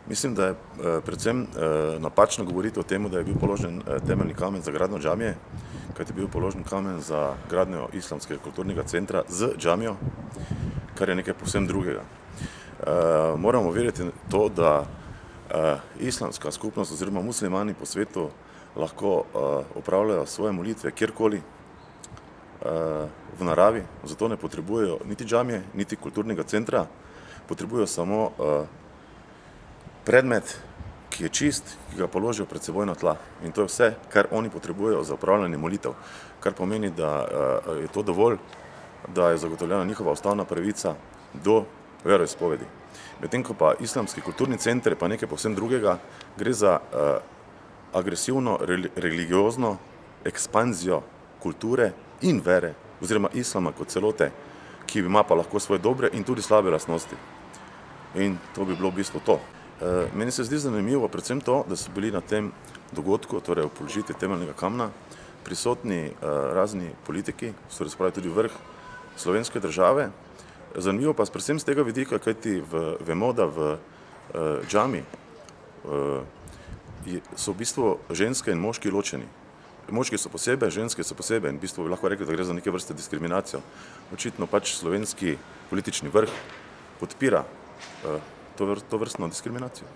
Mislim, da je predvsem napačno govoriti o tem, da je bil položen temeljni kamen za gradnjo džamije, kajti je bil položen kamen za gradnjo islamskega kulturnega centra z džamijo, kar je nekaj povsem drugega. Moramo vedeti to, da islamska skupnost oziroma muslimani po svetu lahko opravljajo svoje molitve kjerkoli v naravi, zato ne potrebujejo niti džamije, niti kulturnega centra, potrebujejo samo predmet, ki je čist, ki ga položijo pred seboj na tla. In to je vse, kar oni potrebujejo za opravljanje molitev, kar pomeni, da je to dovolj, da je zagotovljena njihova ustavna pravica do veroizpovedi. Medtem ko pa islamski kulturni center pa nekaj povsem drugega, gre za agresivno religiozno ekspanzijo kulture in vere, oziroma islama kot celote, ki ima pa lahko svoje dobre in tudi slabe lastnosti. In to bi bilo v bistvu to. Meni se zdi zanimivo predvsem to, da so bili na tem dogodku, torej v položitvi temeljnega kamna, prisotni razni politiki, so razpravljali tudi vrh slovenske države. Zanimivo pa predvsem z tega vidika, kajti vemo, da v džami so v bistvu ženske in moški ločeni. Moški so posebej, ženske so posebej in v bistvu bi lahko rekli, da gre za neke vrste diskriminacijo. Očitno pač slovenski politični vrh podpira to vrstno diskriminacijo.